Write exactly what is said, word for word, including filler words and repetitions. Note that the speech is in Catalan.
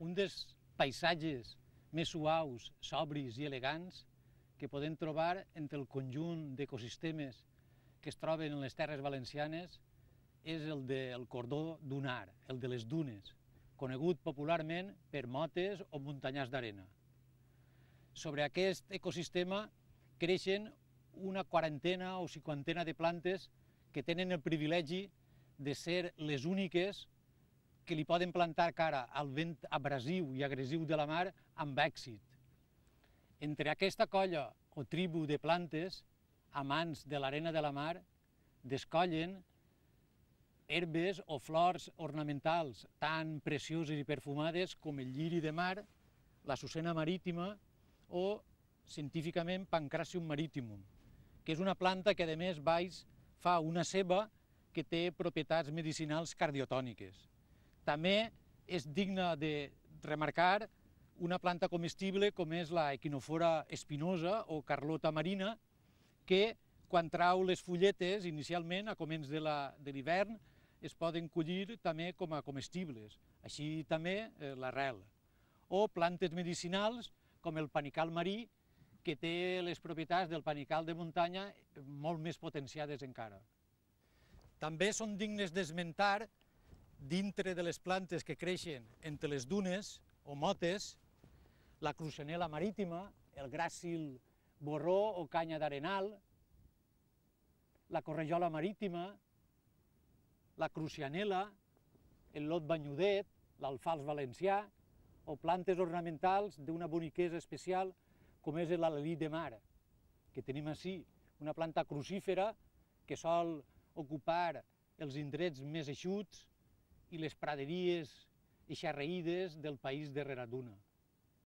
un dels paisatges més suaus, sobris i elegants que podem trobar entre el conjunt d'ecosistemes que es troben en les terres valencianes és el del cordó dunar, el de les dunes, conegut popularment per motes o muntanyars d'arena. Sobre aquest ecosistema creixen una quarantena o cinquantena de plantes que tenen el privilegi de ser les úniques que li poden plantar cara al vent abrasiu i agressiu de la mar amb èxit. Entre aquesta colla o tribu de plantes, amants de l'arena de la mar, descollen herbes o flors ornamentals tan precioses i perfumades com el lliri de mar, la sucena marítima o, científicament, Pancrasium maritimum, que és una planta que, a més, baix fa una ceba que té propietats medicinals cardiotòniques. També és digna de remarcar una planta comestible com és la equinofora espinosa o carlota marina, que quan trau les fulletes, inicialment, a començ de l'hivern, es poden collir també com a comestibles, així també l'arrel. O plantes medicinals com el panical marí, que té les propietats del panical de muntanya molt més potenciades encara. També són dignes d'esmentar, dintre de les plantes que creixen entre les dunes o motes, la cruixanel·la marítima, el gràcil borró o canya d'arenal, la correjola marítima, la crucianel·la, el lot banyudet, l'alfals valencià, o plantes ornamentals d'una boniquesa especial com és l'alelí de mar, que tenim ací, una planta crucífera que sol ocupar els indrets més eixuts i les praderies eixarreïdes del país de Reraduna.